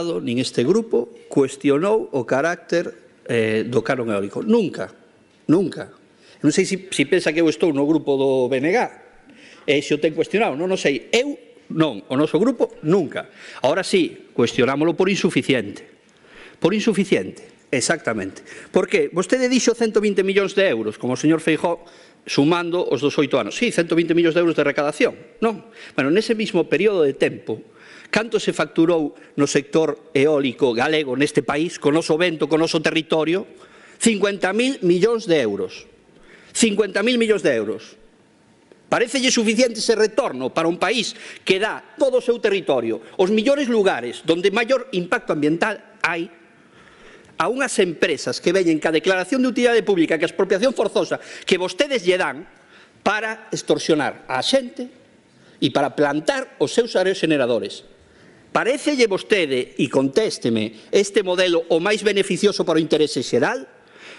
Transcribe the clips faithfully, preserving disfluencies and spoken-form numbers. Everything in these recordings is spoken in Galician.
nin este grupo cuestionou o carácter eh, do canon eólico. Nunca, nunca. Non sei se, se pensa que eu estou no grupo do B N G, e se o ten cuestionado, non o sei. Eu non, o noso grupo nunca. Ahora sí, cuestionámoslo por insuficiente. Por insuficiente, exactamente. Porque vostede dixo ciento vinte millóns de euros, como o señor Feijóo, sumando os dos oito anos. Sí, ciento vinte millóns de euros de recadación. Non. Bueno, nese mismo período de tempo, canto se facturou no sector eólico galego neste país, con noso vento, con noso territorio? cincuenta mil millóns de euros. cincuenta mil millóns de euros. Parecelle suficiente ese retorno para un país que dá todo o seu territorio, os millores lugares donde maior impacto ambiental hai, a unhas empresas que veñen ca declaración de utilidade pública, que a expropiación forzosa que vostedes lle dan para extorsionar a xente e para plantar os seus aerogeneradores. Parecelle vostede, e contésteme, este modelo o máis beneficioso para o interese xeral?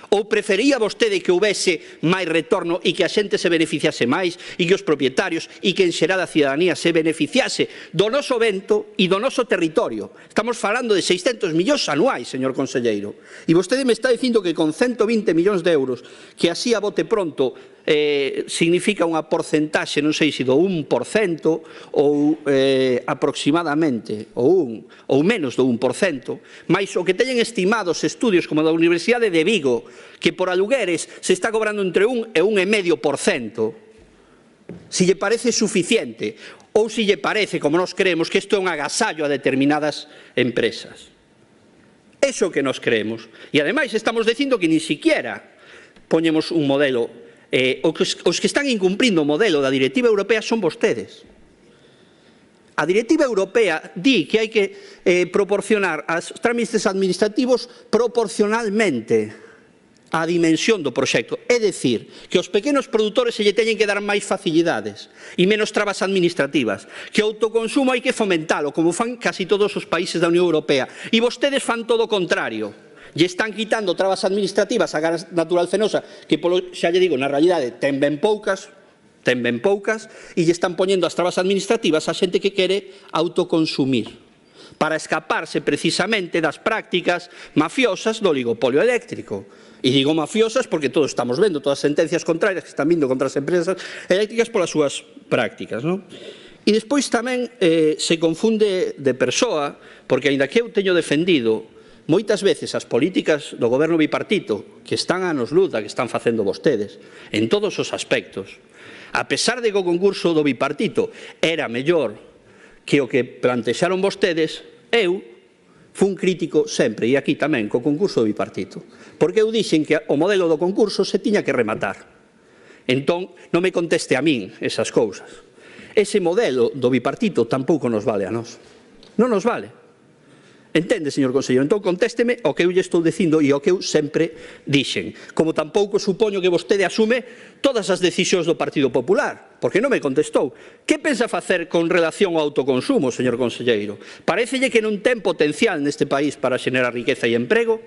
Ou prefería vostede que houvese máis retorno e que a xente se beneficiase máis e que os propietarios e que en xeral a cidadanía se beneficiase do noso vento e do noso territorio? Estamos falando de seiscentos millóns anuais, señor conselleiro. E vostede me está dicindo que con ciento vinte millóns de euros, que así a bote pronto eh, significa unha porcentaxe, non sei se do un por cento ou eh, aproximadamente, ou, un, ou menos do un por cento, mas o que teñen estimados estudios como da Universidade de Vigo, que por alugueres se está cobrando entre un e un e medio por cento, si lle parece suficiente ou si lle parece, como nos creemos, que isto é un agasallo a determinadas empresas. Eso que nos creemos. E ademais estamos dicindo que ni siquiera poñemos un modelo. Eh, os, os que están incumprindo o modelo da Directiva Europea son vostedes. A Directiva Europea di que hai que eh, proporcionar aos trámites administrativos proporcionalmente á dimensión do proxecto. É dicir, que aos pequenos produtores se lle teñen que dar máis facilidades e menos trabas administrativas, que o autoconsumo hai que fomentalo, como fan casi todos os países da Unión Europea. E vostedes fan todo o contrario. Lle están quitando trabas administrativas a gas natural fenosa, que, polo, xa lle digo, na realidade ten ben poucas, ten ben poucas, e lle están poñendo as trabas administrativas a xente que quere autoconsumir, para escaparse precisamente das prácticas mafiosas do oligopolio eléctrico. E digo mafiosas porque todos estamos vendo todas as sentencias contrarias que están vindo contra as empresas eléctricas polas súas prácticas, non? E despois tamén eh, se confunde de persoa, porque aínda que eu teño defendido moitas veces as políticas do goberno bipartito, que están a anos luz da que están facendo vostedes, en todos os aspectos, a pesar de que o concurso do bipartito era mellor que o que plantexaron vostedes, eu fun crítico sempre, e aquí tamén, co concurso do bipartito, porque eu dixen que o modelo do concurso se tiña que rematar. Entón, non me conteste a min esas cousas. Ese modelo do bipartito tampouco nos vale a nós. Non nos vale. Entende, señor conselleiro? Entón, contésteme o que eu lle estou dicindo e o que eu sempre dixen. Como tampouco supoño que vostede asume todas as decisións do Partido Popular, porque non me contestou. Que pensa facer con relación ao autoconsumo, señor conselleiro? Parécelle que non ten potencial neste país para xenerar riqueza e emprego?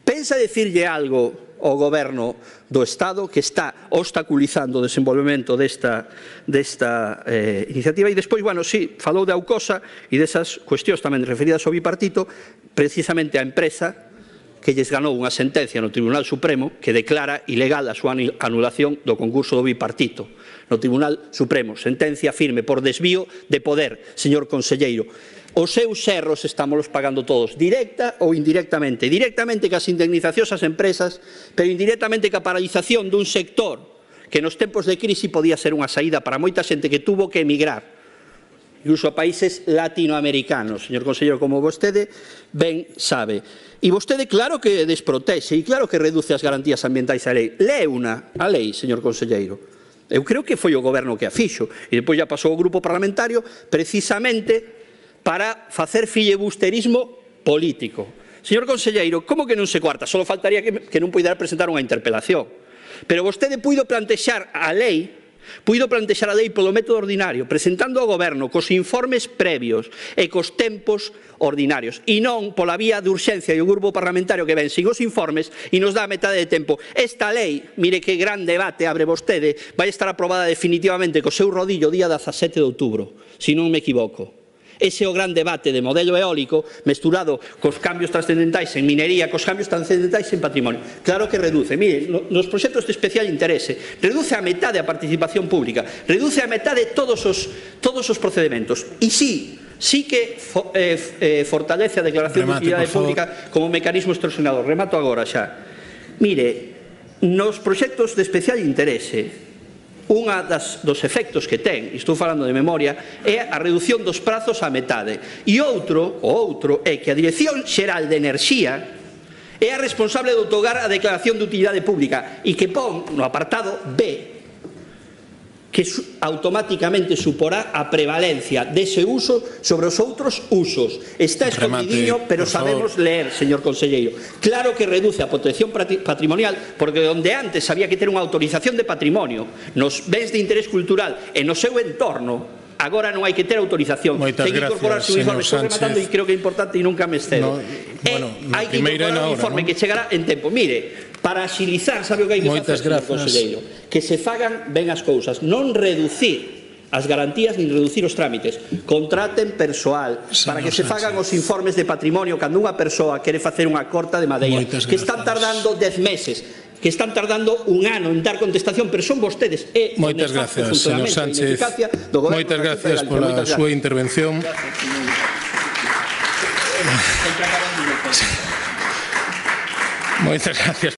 Pensa dicirlle algo ao goberno do Estado que está obstaculizando o desenvolvemento desta, desta eh, iniciativa? E despois, bueno, sí, falou de Aucosa e desas cuestións tamén referidas ao bipartito, precisamente a empresa que lles ganou unha sentencia no Tribunal Supremo que declara ilegal a súa anulación do concurso do bipartito. No Tribunal Supremo, sentencia firme por desvío de poder, señor conselleiro. Os seus erros estámolos pagando todos, directa ou indirectamente. Directamente cas indemnizacións ás empresas, pero indirectamente ca paralización dun sector que nos tempos de crise podía ser unha saída para moita xente que tuvo que emigrar, incluso a países latinoamericanos, señor conselleiro, como vostede ben sabe. E vostede claro que desprotexe e claro que reduce as garantías ambientais á lei. Leuna a lei, señor conselleiro. Eu creo que foi o goberno que a fixo e depois já pasou o grupo parlamentario precisamente para facer filibusterismo político. Señor conselleiro, como que non se cuarta? Só faltaría que, que non puidera presentar unha interpelación. Pero vostede puido plantexar a lei, puido plantexar a lei polo método ordinario, presentando ao goberno cos informes previos e cos tempos ordinarios, e non pola vía de urxencia e o grupo parlamentario que ven sin os informes e nos dá a metade de tempo. Esta lei, mire que gran debate abre vostede, vai estar aprobada definitivamente co seu rodillo o día dezasete de outubro, se non me equivoco. Ese é o gran debate de modelo eólico mesturado cos cambios trascendentais en minería, cos cambios trascendentais en patrimonio. Claro que reduce. Mire, nos proxectos de especial interese, reduce a metade a participación pública, reduce a metade todos os, todos os procedementos. E sí, sí que fo, eh, eh, fortalece a declaración Remate, de utilidade pública como mecanismo extorsionador. Remato agora xa. Mire, nos proxectos de especial interese, unha das, dos efectos que ten, e estou falando de memoria, é a reducción dos prazos á metade. E outro, o outro, é que a Dirección Xeral de Enerxía é a responsable de outorgar a declaración de utilidade pública e que pon no apartado B que automáticamente suporá a prevalencia dese uso sobre os outros usos. Está escondidiño, pero sabemos ler, señor conselleiro. Claro que reduce a protección patrimonial, porque onde antes había que ter unha autorización de patrimonio nos bens de interés cultural e no seu entorno, agora non hai que ter autorización. Moitas ten que incorporarse un informe. Estou rematando e creo que é importante e nunca me excedo. No, bueno, hai que incorporar un informe que chegará en tempo. Mire, para axilizar, sabe o que hai que facer, señor conselleiro? Que se fagan ben as cousas, non reducir as garantías nin reducir os trámites. Contraten persoal para que se fagan os informes de patrimonio cando unha persoa quere facer unha corta de madeira, que están tardando dez meses, que están tardando un ano en dar contestación, pero son vostedes e moitas gracias, señor Sánchez. Moitas gracias pola súa intervención. Moitas gracias.